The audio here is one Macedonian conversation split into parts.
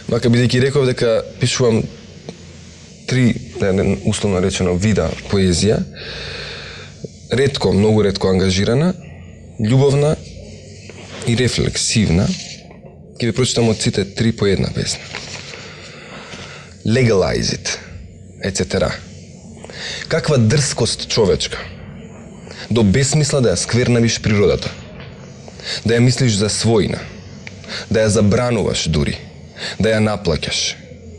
Мака бидејќи реков дека пишувам 3, условно речено, вида поезија, ретко, многу ретко ангажирана, љубовна и рефлексивна, ќе ви прочитам од сите 3 по една песна. Legalize it, etc. Каква дрскост човечка, до безсмисла да ја сквернавиш природата, да ја мислиш за својна, да ја забрануваш дури, да ја наплаќаш,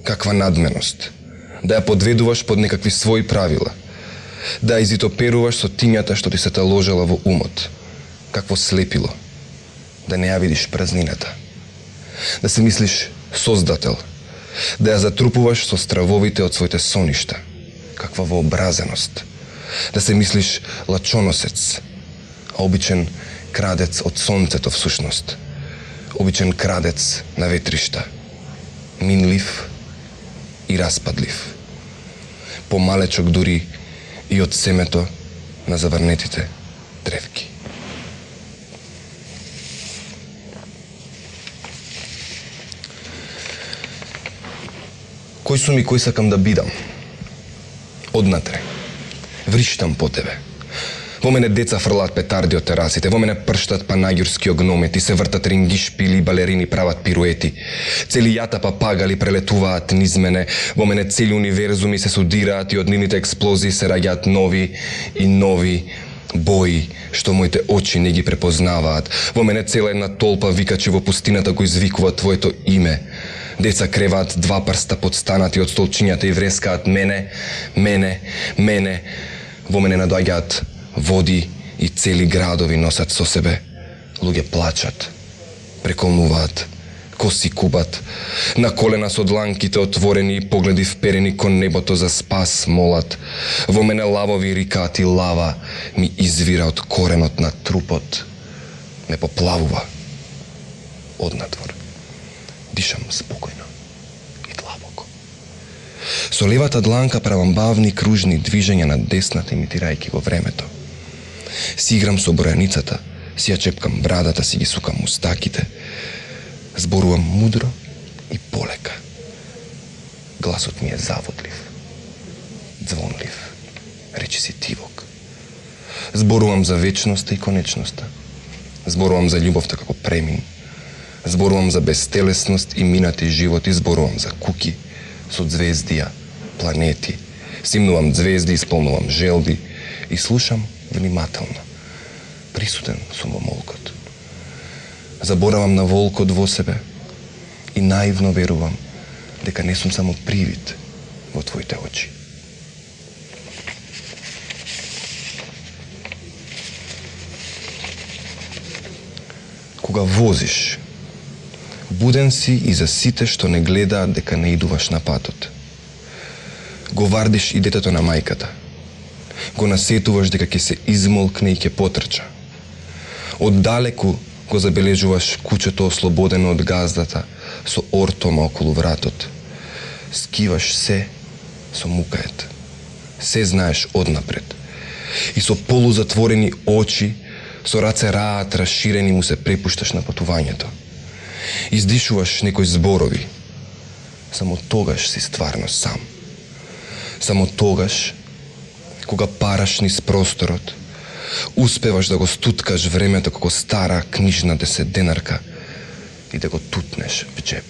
каква надменост, да ја подведуваш под некакви своји правила, да ја изитоперуваш со тињата што ти се таложела во умот, какво слепило, да не ја видиш празнината, да се мислиш создател, да ја затрупуваш со стравовите од своите соништа, каква вообразеност, да се мислиш лачоносец, а обичен крадец од сонцето всушност, обичен крадец на ветришта, минлив и распадлив, помалечок дури и од семето на заврнетите древки. Кој сум и кој сакам да бидам? Однатре. Вриштам по тебе. Во мене деца фрлаат петарди од терасите, во мене прштат панагюрски огномети, се вртат рингишпили и балерини прават пируети. Цели јата папагали прелетуваат низ мене, во мене цели универзуми се судираат и од нивните експлозии се раѓаат нови и нови бои, што моите очи не ги препознаваат. Во мене цела една толпа викачи во пустината кои извикуваат твоето име. Деца креваат 2 прста подстанати од столчињата и врескаат мене. Во мене надоаѓаат води и цели градови носат со себе. Луѓе плачат, преколнуваат, коси кубат, на колена со дланките отворени и погледи вперени кон небото за спас молат. Во мене лавови рикаат и лава ми извира од коренот на трупот. Ме поплавува однадвор. Дишам спокојно и длабоко. Со левата дланка правам бавни кружни движења на десната, имитирајќи во времето. Си играм со бројаницата, си ја чепкам брадата, си ги сукам мустаките. Зборувам мудро и полека. Гласот ми е заводлив, звонлив, речиси тивок. Зборувам за вечноста и конечноста. Зборувам за љубовта како премин. Зборувам за безтелесност и минати животи, зборувам за куки со звездија, планети. Симнувам звезди, исполнувам желби и слушам внимателно. Присутен сум во молкот. Заборавам на волкот во себе и наивно верувам дека не сум само привид во твоите очи. Кога возиш, буден си и за сите што не гледаат дека не идуваш на патот. Го вардиш и детето на мајката. Го насетуваш дека ќе се измолкне и ќе потрча. Оддалеку го забележуваш кучето ослободено од газдата со ортома околу вратот. Скиваш се со мукает. Се знаеш однапред. И со полузатворени очи, со раце раат расширени му се препушташ на патувањето. Издишуваш некои зборови. Само тогаш си стварно сам. Само тогаш, кога параш низ просторот, успеваш да го стуткаш времето како стара книжна 10-денарка и да го тутнеш в джеп.